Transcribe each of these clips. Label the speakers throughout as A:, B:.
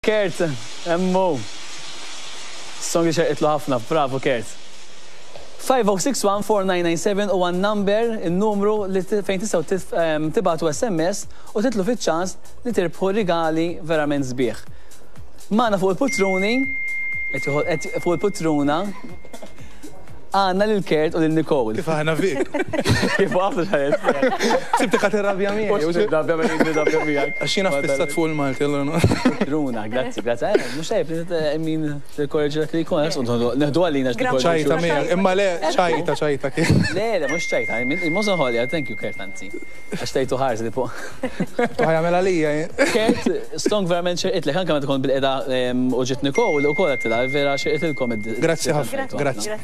A: Kurt, hemm hu. Song li xerqitlu ħafna, bravo Kurt. 50614997 huwa n-number, in-numru li fejn tistgħu tibagħtu SMS u titlu fiċ-ċans li tirbħu rigali verament sbieħ. Magħna fuq il-putruni, qed fuq il-putruna, Għandna lil Kurt u lil Nicole.
B: Kif aħna fik?
A: Kif għafna xaret.
B: Sibtek għat irrabja miegħi.
A: Mhux irrabja miegħi, nirrabja miegħek.
B: Għax jiena fissat fuq il-Malti allura.
A: Runa, grazzi, grazzi. Eh, mhux tajjeb li min tikkorreġi dak li jkun, neħdu għalina
B: ċajta miegħek, imma le ċajta ċajta kien.
A: Le, le, mhux ċajta, mhux ħolja, thank you Kurt anzi. Għax tajtu ħarsa tipo.
B: Ħajamel għalija.
A: Kurt, stong verament xerqitlek, anke meta kont bil-qeda u ġiet Nicole, ukoll għedtilha, vera xerqitilkom id
B: Grazzi ħafna. Grazzi.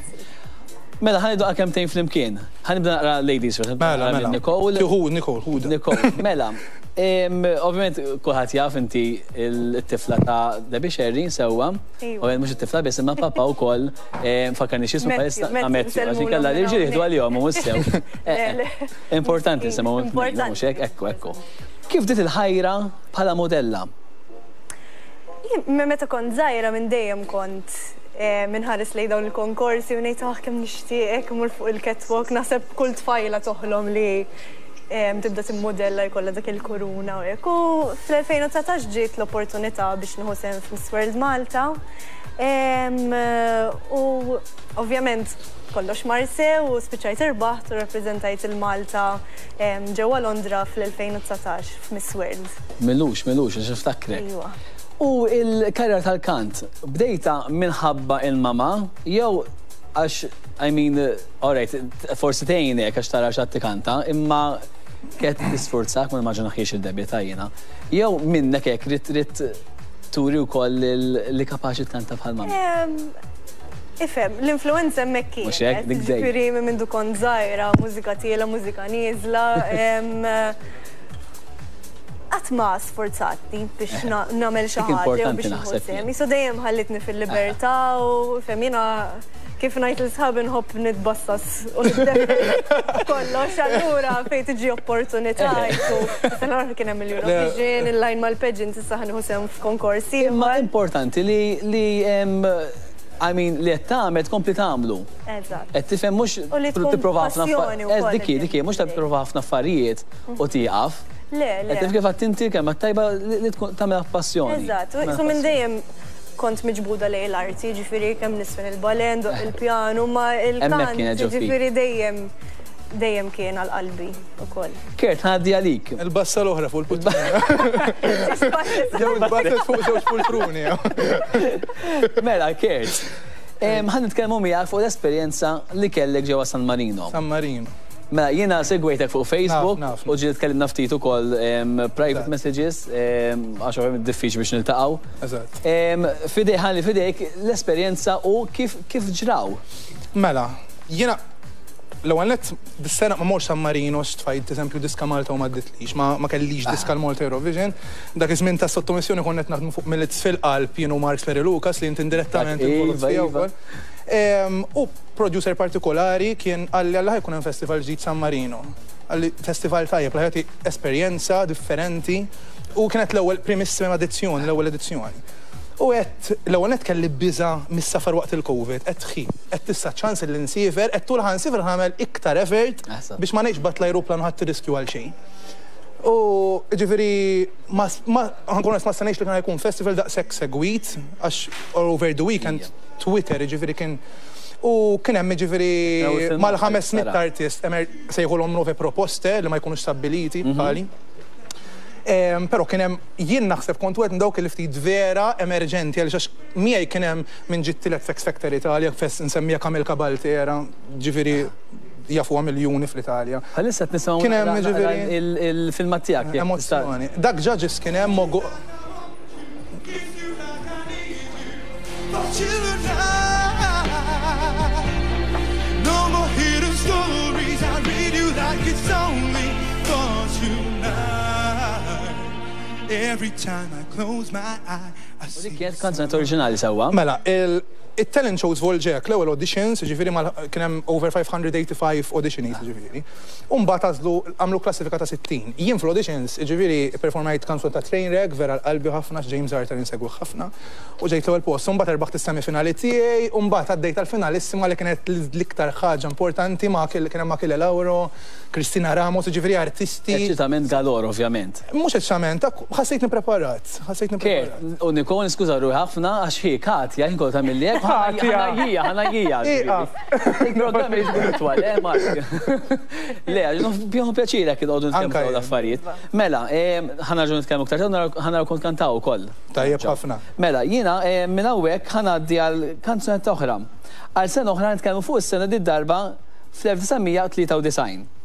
A: Mela, ħa ngħidu kemmtejn flimkien. Ħa nibda naqra ladies first.
B: Mela, mela.
A: Nicole.
B: Hu, Nicole, hu.
A: Nicole, mela. Ovvjament, kulħadd jaf inti it-tifla ta' Debbie Scerri, sewwa. Ovvjament mhux it-tifla biss, imma papa wkoll fakkarni x'ismu bħalissa. Matthew, għax inkella l-irġiel jieħdu għalihom u mhux sew. Importanti nsemgħu mhux hekk, ekku, ekku. Kif bdiet il-ħajra bħala mudella?
C: Jien meta kont żgħira minn dejjem kont inħares lejn dawn il-konkorsi u ngħid ah kemm nixtieq hekk immur fuq il-catwalk, naħseb kull tfajla toħlom li tibda timmudella jkollha dak il-kuruna u hekk. U fl-2019 ġiet l-opportunità biex nieħu sehem f'Miss World Malta. U ovvjament Kollox mar sew u spiċċajt irbaħt u rrappreżentajt 'il Malta ġewwa Londra fl-2019 f'Miss World.
A: M'ilux, m'ilux, għax niftakrek.
C: Ejwa.
A: U l-karriera tal-kant, bdejtha minħabba il-mama jew għax, I mean, alright, forsi tgħinek għax tara xi ħadd ikanta, imma kienet tisfurzak, ma nimmaġinahiex il-Debbie ta' jiena, jew minnek hekk ridt ridt turi wkoll li kapaċi tkanta bħal mama?
C: Ifhem, l-influenza hemmhekk kienet.
A: Mhux hekk, dik dejjem.
C: Ġifieri minn mindu kont żgħira, mużika tiela, mużika nieżla. Qatt ma sfurzatni biex nagħmel xi ħaġa jew biex nieħu sehem. Qisu dejjem ħallitni fil-libertà u ifhem jiena kif ngħid lil sħabi nħobb nitbassas u niddefel kollox allura fejn tiġi opportunità qisu is-sena l-oħra kien hemm il-Eurovision, il-line mal-pageant issa ħa nieħu sehem f'konkors ieħor.
A: Imma importanti li I mean, li qed tagħmel tkompli tagħmlu.
C: Eżatt.
A: Qed tifhem mhux tipprova ħafna affarijiet. Dik hi, dik hi, mhux tipprova ħafna affarijiet u tieqaf.
C: Le, le.
A: Qed tifhem kif għedt inti kelma tajba li tkun tagħmilha b'passjoni.
C: Eżatt, u minn dejjem kont miġbuda lejn l-arti, ġifieri kemm nisfen il-ballet, ndoqq il-pjanu, ma il-kant, ġifieri dejjem dejjem kien għal qalbi ukoll.
A: Kurt, ħa ngħaddi għalik.
B: Il-bassa l-oħra fuq il-pultruna. Jew il-basset fuq żewġ pultruni.
A: Mela, Kurt, ħa nitkellmu miegħek fuq l-esperjenza li kellek ġewwa San Marino.
B: San Marino.
A: Mela, jiena segwejtek fuq Facebook u ġieli tkellimna ftit ukoll private messages, għax ovvjament diffiċli biex niltaqgħu.
B: Eżatt.
A: F'idejk, ħalli f'idejk l-esperjenza u kif kif ġraw.
B: Mela, jiena l-ewwel nett dis-sena ma mortx San Marino għax tfajt eżempju diska Malta u m'għadditlix, ma kellix diska l-Malta Eurovision. Dak iż-żmien tas-sottomissjoni konna qed naħdmu fuq Millets fil-Qalb jien u Mark Sperry Lucas li inti indirettament involut fiha wkoll. U producer partikolari kien qalli alla ħa jkun hemm festival ġdid San Marino. Qalli festival tajjeb li ħa jagħti esperjenza differenti u kienet l-ewwel primissima edizzjoni, l-ewwel edizzjoni. U għedt, l-ewwel nett kelli biża' mis-safar waqt il-Covid, għedt ħi, għedt issa ċ-ċans illi nsiefer, għedt tul ħa nsiefer ħa nagħmel iktar effort biex ma ngħidx bgħatt l-ajruplan u ħadt ir-riskju għal xejn. U jiġifieri ma ma ħa nkun onest ma stennejtx li kien ħa jkun festival daqshekk segwit għax all over the weekend Twitter jiġifieri kien u kien hemm jiġifieri mal-500 artist sejħulhom nuove proposte li ma jkunux stabbiliti bħali. Però kien hemm jien naħseb kont wieħed minn dawk li ftit vera emerġenti għaliex għax miegħi kien hemm min ġie t-tielet f'X Factor Italia, nsemmija Camille Cabaltera, ġifieri jafuha miljuni fl-Italja.
A: Bħalissa qed nisimgħu naqra il-filmat tiegħek.
B: Emozzjoni. Dak judges kien hemm
A: U dik kienet kanzunetta oriġinali sewwa?
B: Mela, il. It-talent show żvolġa hekk, l-ewwel auditions, jiġifieri mal kien hemm over 585 auditionees jiġifieri. U mbagħad għażlu għamlu klassifika ta' 60. Jien fl-auditions, jiġifieri pperformajt kanzunetta Trainwreck, vera għal qalbi ħafna għax James Arthur insegwih ħafna, u ġejt l-ewwel post. U mbagħad rbaħt is-semifinali tiegħi u mbagħad għaddejt għall-finalissima li kienet l-iktar ħaġa importanti ma' kien hemm Achille Lauro, Christina Ramos, jiġifieri artisti.
A: Eċċitament galore ovvjament.
B: Mhux eċċitament, ħassejtni preparat, ħassejtni preparat.
A: Kurt, u Nicole niskuża ruħi ħafna għax hi Katja, jien kont tagħmilli hekk,
B: Katja!
A: Ħanajjija, ħanajjija.
B: Ieqaf!
A: Il-programm irid ikun itwal, eh Mark? Le, għax nieħu pjaċir hekk inqogħdu nitkellmu
B: Anke
A: dawn
B: jien.
A: l-affarijiet. Mela, ħa nerġgħu nitkellmu aktar tard, ħa naraw kont kantaw ukoll.
B: Tajjeb ħafna.
A: Mela, jiena minn hawnhekk ħa ngħaddi għal kanzunetta oħra. Għal sena oħra nitkellmu fuq is-sena did-darba fl-1993.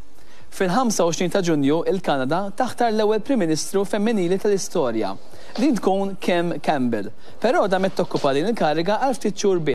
A: Fil-25 ta' Ġunju, il-Kanada taħtar l-ewwel Prim Ministru femminili tal-istorja. Din tkun Kim Campbell. Però damet tokkupa din il-kariga għal ftit xhur biss.